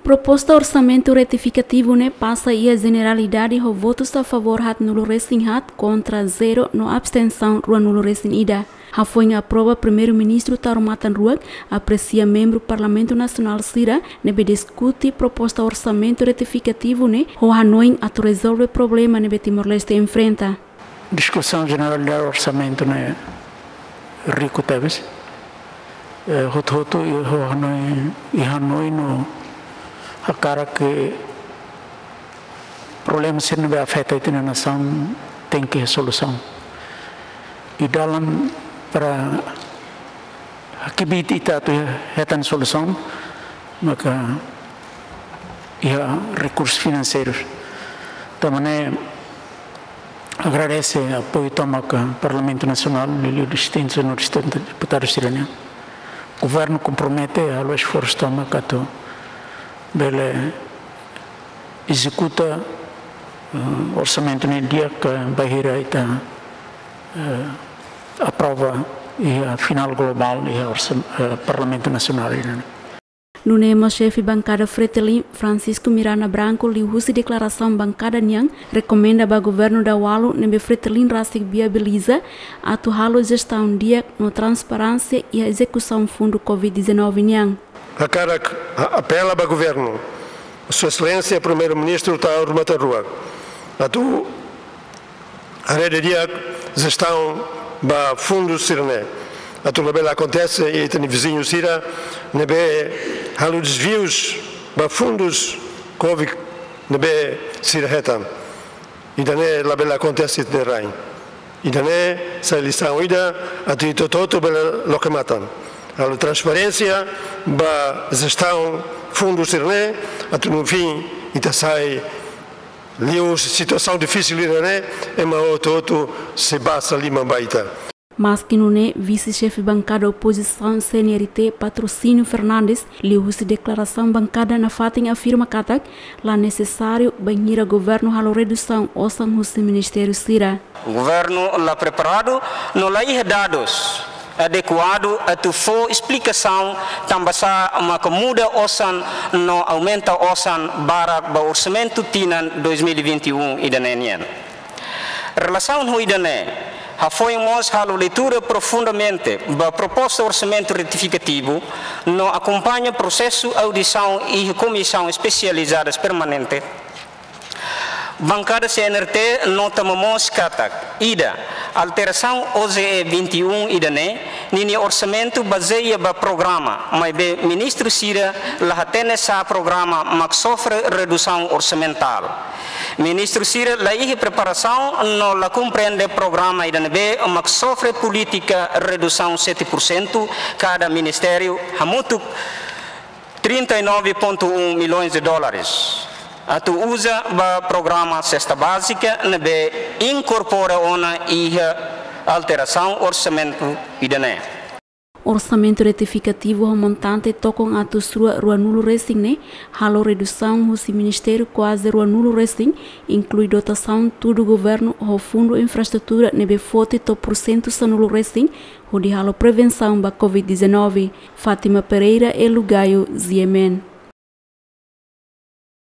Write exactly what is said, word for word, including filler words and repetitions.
Proposta orsamentu retifikativu ne'e pasa iha jeneralidade ho votus a favór haatnulu resin haat, kontra zero no abstensaun ruanulu resin ida. Hafoin aprova, Primeiru-Ministru Taur Matan Ruak apresia membru Parlamentu Nasionál sira ne'ebé diskute proposta orsamentu retifikativu ne'e ho hanoin atu rezolve problema ne'ebé Timor-Leste enfrenta. Diskusaun jeneralidade orsamentu ne'e riku tebes. Eh, hotu-hotu iha hanoin, iha hanoin no hakarak ke problema sira ne'ebé afeta ita-nia nasaun tenke solusaun. I dalan para hakbiit ita atu hetan solusaun, maka iha rekursus finanseiru. Tanba ne'e agradese apoiu tomak Parlamentu Nasionál, liuliu distintu no distintu deputadu sira-nian. Governu kompromete halo esforsu tomak atu bele ezekuta, eh, orsamentu ne'e di'ak, eh, bainhira ita, eh, aprova iha finál globál iha orsam-, eh, Parlamentu Nasionál nian. Nune'e mós xefe bankada Fretilin, Francisco Miranda Branco, liuhusi deklarasaun bankada nian, rekomenda ba governu Daualu ne'ebé Fretilin rasik viabiliza atu halo jestaun di'ak no transparénsia iha ezekusaun fundu covid dezanove nian. Hakarak a-, apela ba governu, Sua Exelénsia Primeiru-Ministru Taur Matan Ruak, atu haree didi'ak jestaun ba fundu sira-ne'e, atu labele akontese iha ita-nia viziñu sira ne'ebé halo desvius ba fundus covid ne'ebé sira hetan. Ida-ne'e labele akontese iha ita-nia rain. Ida-ne'e sai lisaun ida atu ita hotu-hotu bele loke matan. Halo transparénsia ba jestaun fundu sira-ne'e, atu no fim ita sai liu situasaun difisil ida-ne'e, ema hotu-hotu sei basa liman ba ita. Maski nune'e, vise-xefe bankada opozisaun C N R T, Patrocínio Fernandes, liuhusi deklarasaun bankada nafatin afirma katak la nesesáriu bainhira governu halo redusaun osan husi ministériu sira. Governu la preparadu no la iha dadus adekuadu atu fó esplikasaun tanbasá maka muda osan no aumenta osan barak ba orsamentu tinan dois mil e vinte e um ida-ne'e nian. Relasaun ho ida-ne'e, hafoin mós halo leitura profundamente ba proposta orsamentu retifikativu no akompaña prosesu audisaun iha Komisaun Espesializadas Permanente. Bankada C N R T nota momoos katak, ida, alterasaun O J E vinte e um ida-ne'e, ninia orsamentu bazeia ba programa, maibé ministru sira la hatene sá programa mak sofre redusaun orsamentál. Ministru sira la iha preparasaun no la komprende programa ida ne'ebé mak sofre polítika redusaun sete por cento kada ministériu, hamutuk trinta e nove ponto um milhões de dólares atu uza ba programa sesta bázika ne'ebé inkorpora ona iha alterasaun orsamentu ida-ne'e. Orsamentu retifikativu ho montante tokon atus rua ruanulu resin ne'e halo redusaun husi ministériu kuaze ruanulu resin, inklui dotasaun tudu governu ho fundu infraestrutura ne'ebé foti to'o pursentu sanulu resin, hodi halo prevensaun ba covid dezanove. Fátima Pereira, Elu Gayo, G M N.